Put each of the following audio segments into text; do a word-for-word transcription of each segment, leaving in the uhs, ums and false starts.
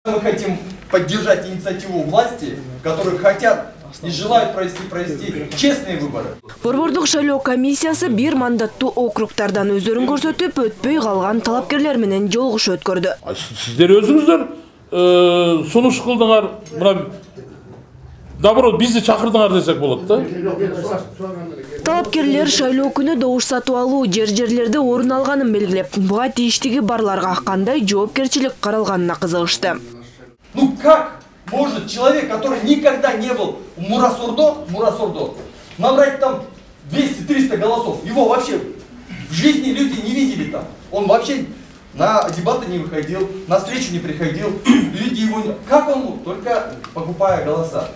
Мы хотим поддержать инициативу власти, которые хотят и желают провести, провести честные выборы. Борбордук шайлоо комиссиясы бир мандаттуу округтардан өздөрүн көрсөтүп, өтпөй калган талапкерлер менен жолугуш өткөрдү. Сиздер өзүңүздөр сунуш кылдыңар, мына наоборот бизди чакырдыңар десек болот да. Талапкерлер шайлоо күнү добуш сатып алуу жер-жерлерде орун алганын белгилеп, буга тийиштиги барларга кандай жоопкерчилик каралганына кызыгышты. Ну как может человек, который никогда не был в Мурасордо, Мурасордо, набрать там двести-триста голосов? Его вообще в жизни люди не видели там. Он вообще на дебаты не выходил, на встречу не приходил. Люди его не... Как он мог? Только покупая голоса.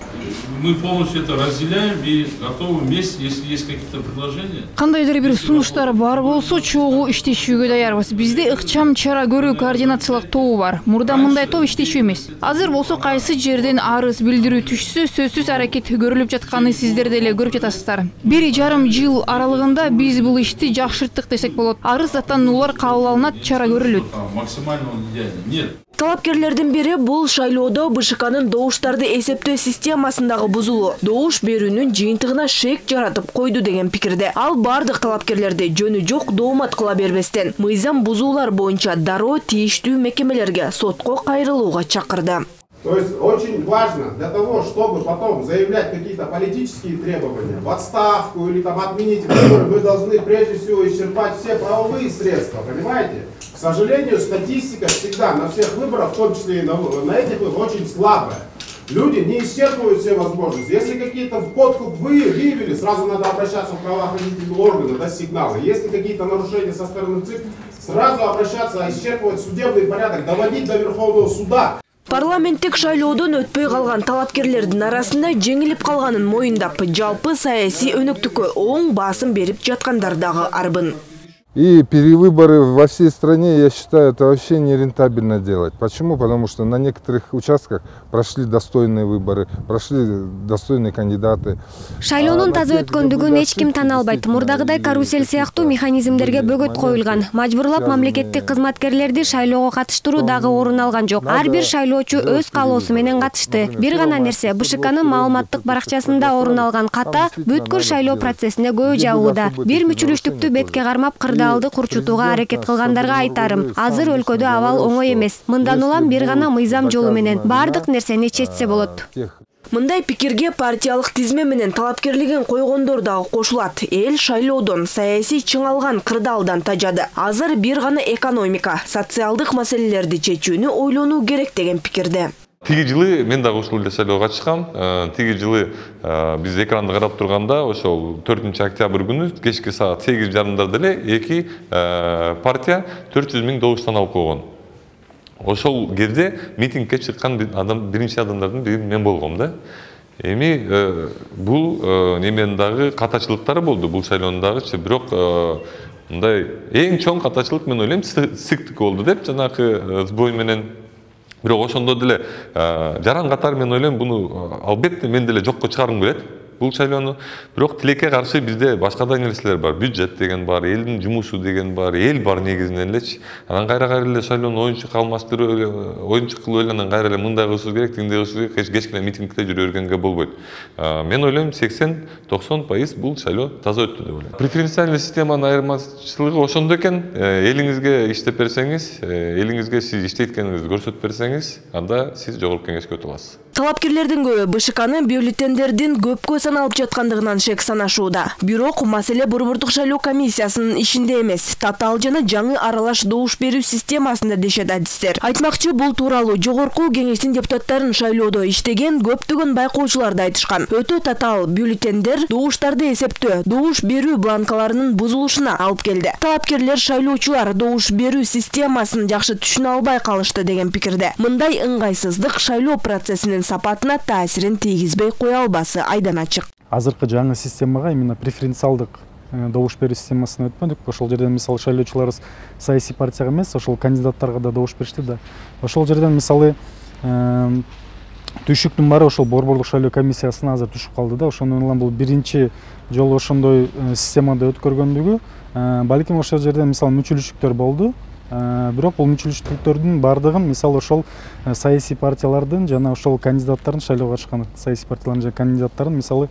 Мы полностью это разделяем и готовы вместе, если есть какие-то предложения. Кандайдыр бир сунуштар бар болсо, чогуу иштешүүгө даярбыз. Бизде ыкчам чара көрүү координациялык тобу бар. Мурда мындай топ иштешүү эмес. Азыр болсо кайсы жерден арыз билдирүү түшсө, сөзсүз аракет көрүлүп жатканы сиздер деле көрүп жатасыздар. Бир жарым жыл аралыгында биз бул ишти жакшырттык десек болот. Арыз даттануулар кабыл алынат, чара көрүлөт. Максимально идеально. Нет. Талапкерлердин бири бул шайлоодо БШКнын добуштарды эсептөө системасындагы бузулуу, добуш берүүнүн жыйынтыгына шек жаратып койду деген пикирде. Ал бардык талапкерлерди жөнү жок доомат кыла бербестен, мыйзам бузуулар боюнча дароо тийиштүү мекемелерге, сотко кайрылууга чакырды. То есть очень важно для того, чтобы потом заявлять какие-то политические требования, в отставку или там отменить выборы, мы должны прежде всего исчерпать все правовые средства, понимаете? К сожалению, статистика всегда на всех выборах, в том числе и на, на этих, очень слабая. Люди не исчерпывают все возможности. Если какие-то в подкуп вы выявили, сразу надо обращаться в правоохранительные органы, дать сигналы. Если какие-то нарушения со стороны ЦИК, сразу обращаться, исчерпывать судебный порядок, доводить до Верховного суда. Парламенттик шайлоодон өтпөй калган талапкерлердин арасында жеңилип калганын моюндап, жалпы саясий өнөктүккө оң басым берип жаткандар дагы арбын. И перевыборы во всей стране, я считаю, это вообще нерентабельно делать. Почему? Потому что на некоторых участках прошли достойные выборы, прошли достойные кандидаты. Шайлоонун таза өткөндүгүн эч ким тана албайт. Мурдагыдай карусель сыяктуу механизмдерге бөгөт коюлган. Мажбурлап мамлекеттик кызматкерлерди шайлоого катыштыруу дагы орун алган жок. Ар бир шайлоочу өз каалоосу менен катышты. Бир гана нерсе, БШКнын маалыматтык баракчасында орун алган ката бүткүл шайлоо процессине көбү жабууда. Бир мүчүлүштүктү бетке кармап кырдаалды курчутууга аракет кылгандарга айтарым. Азыр өлкөдө абал оңой эмес. Мындан улам бир гана мыйзам жолу менен бардык нерсени чечсе болот. Мындай пикирге партиялык тизме менен талапкерлигин койгондор дагы кошулат. Эл шайлоодон, саясий чыңалган кырдаалдан тажады. Азыр бир гана экономика, социалдык маселелерди чечүүнү ойлонуу керек деген пикирде. Тиги жылы мен дагы ушул эле шайлоого катышкам. Тиги жылы биз экранды карап турганда, ошол төртүнчү октябрь күнү кечки саат сегиз жарымдарда эле эки партия төрт жүз миң добуштан алып койгон. Ошол кезде митингге чыккан адам, биринчи адамдардын бири мен болгом да. Эми бул неменин дагы катачылыктары болду, бул шайлоонун дагычы, бирок мындай эң чоң катачылык мен ойлойм ЦИКтики болду деп, жанагы сбой менен. Бирок ошондо деле жаран катары мен ойлойм буну албетте мен деле жокко чыгаргым келет. Бул шайлоону. Бирок тилекке каршы бизде башка да нерселер бар. Бюджет деген бар, элдин жумушу деген бар, эл бар негизинен элечи. Анан кайра кайра эле шайлоону оюнчук алмаштырып, оюнчук кылып эле анан кайра эле мындай кылышыбыз керек, тиндей кылышыбыз керек, кечкене митингде жүрө бергенге болбойт. Мен ойлойм сексен токсон пайыз бул шайлоо таза өттү деп ойлойм. Преференциальный системанын айырмачылыгы ошондо экен. Элиңизге иштеп берсеңиз, элиңизге сиз иштейт экениңизди көрсөтүп берсеңиз, анда сиз жогорку кеңешке өтө аласыз. Талапкерлердин көбү БШКнын бюллетендердин көпкө саналып жаткандыгынан шек санашууда. Бирок маселе борбордук шайлоо комиссиясынын ишинде эмес, татаал жана жаңы аралаш добуш берүү системасында дешет адистер. Айтмакчы, бул тууралуу жогорку кеңештин депутаттарын шайлоодо иштеген көптөгөн байкоочулар да айтышкан. Өтө татаал бюллетендер добуштарды эсептөө, добуш берүү бланкаларынын бузулушуна алып келди. Талапкерлер шайлоочулар добуш берүү системасын жакшы түшүнө албай калышты деген пикирде. Мындай ыңгайсыздык шайлоо процессинин сапатына таасирин тийгизбей кое албасы айдан ачык. Азыркы жаңы системага именно преференциалдык добуш берүү системасына өтпөдүк. Ошол жерден мисалы шайлоочуларыбыз саясий партияга эмес, ошол кандидаттарга да добуш беришти да. Ошол жерден мисалы түшүктүн баары ошол борборлук шайлоо комиссиясына азыр түшүп калды да. Ошондон улам бул биринчи жолу ошондой системада өткөргөндүгү, балким ошол жерден мисалы мүчүлүштүктөр болду. бирок бул мүчөлүштүүлүктөрдүн баардыгын мисалы ошол саясий партиялардын жана ошол кандидаттардын шайлоого чыккан саясий партиялардын жана кандидаттардын мисалы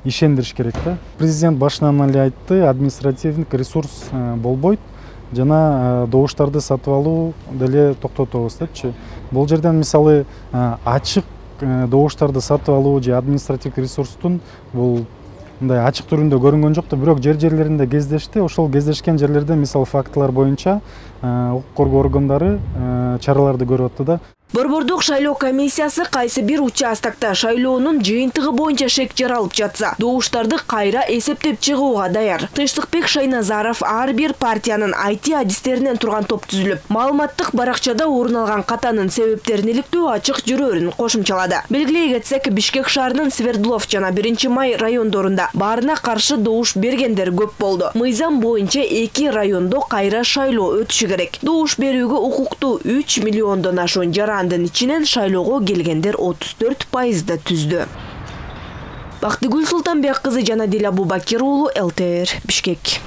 ишендириш керек да. Президент башынан эле айтты, административдик ресурс болбойт жана добуштарды сатып алуу деле токтотобуз депчи. Бул жерден мисалы ачык добуштарды сатып алуу же административдик ресурстун бул мындай ачык түрүндө көрүнгөн жок да, бирок жер жерлеринде кездешти. Ошол кездешкен жерлерде мисалы фактылар боюнча укук коргоо органдары чараларды көрүп атты да. Борбордук шайлоо комиссиясы кайсы бир участокто шайлоонун жыйынтыгы боюнча шек жаралып жатса, добуштарды кайра эсептеп чыгууга даяр. Тынчтыкбек Шайназаров ар бир партиянын ай ти адистеринен турган топ түзүлүп, маалыматтык баракчада орун алган катанын себептерин иликтөө ачык жүрөрүн кошумчалады. Белгилей кетсек, Бишкек шаарынын Свердлов жана биринчи май райондорунда баарына каршы добуш бергендер көп болду. Мыйзам боюнча эки райондо кайра шайлоо өтүшү керек. Добуш берүүгө укуктуу үч миллиондон ашуун жара андын ичинен шайлоого келгендер отуз төрт пайызды түздү. Бактыгүл Султанбек кызы жана Дил Абубакир уулу, эл тэ эр, Бишкек.